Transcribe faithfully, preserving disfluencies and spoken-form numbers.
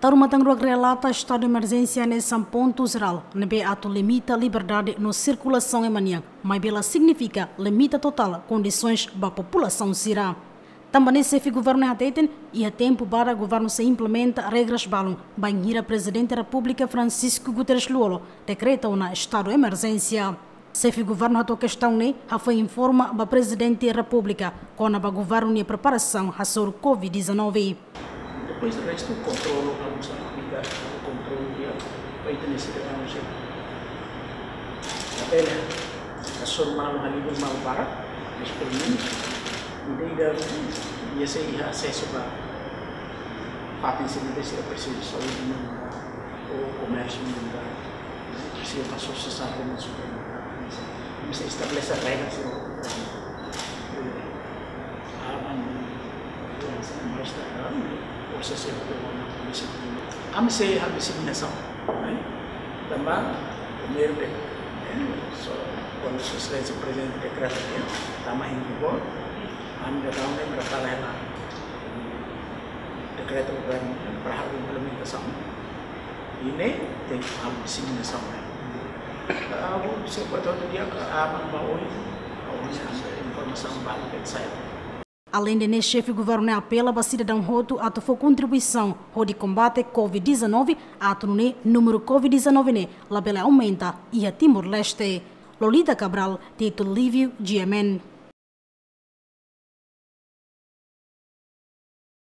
Taru matan ruak relata estadu emerjénsia hanesan pontu jerál ne'ebé atu limita liberdade no sirkulasaun ema nian, maibé la signifika limita totál kondisoens ba populasaun sira. Tanba ne'e xefe governu hateten, iha tempu badak governu sei implementa regras balun bainhira Prezidente Repúblika Francisco Guterres Lú-Olo dekreta ona estadu emerjénsia. Xefe governu hato'o kestaun ne'e hafoin informa ba Prezidente Repúblika kona-ba governu nia preparasaun hasoru covid dezanove. Depois do resto, controlo, vamos a aplicar o controlo de, para ter esse verão, se tabela, a sua mala, a livre mala para, mas pelo menos, ideia, ia ser acesso para, para ter esse, esse preciso de saúde, não, ou comércio, não, preciso para sociedade, não, mas estabelece regras, não, Ami sei halo diseminasaun, eh? Tanba, primeiru de, eh, so, kuandu Sua Exelénsia Prezidente dekreta, eh, tama em vigor, ami dadaun ne'e prepara hela dekreta governu, eh, para halo implementasaun. I ne'e tenke halo diseminasaun, eh. Ah, se buat hotu di'ak, ah, aban ba oin, oin ami informasaun balu ke sai. Aleinde ne'e, xefe governu ne'e apela ba sidadaun hotu atu fó kontribuisaun hodi kombate covid dezanove, atu nune'e númeru covid dezanove ne'e labele aumenta iha Timor-Leste. Lolita Cabral, Tito Livio, G M N.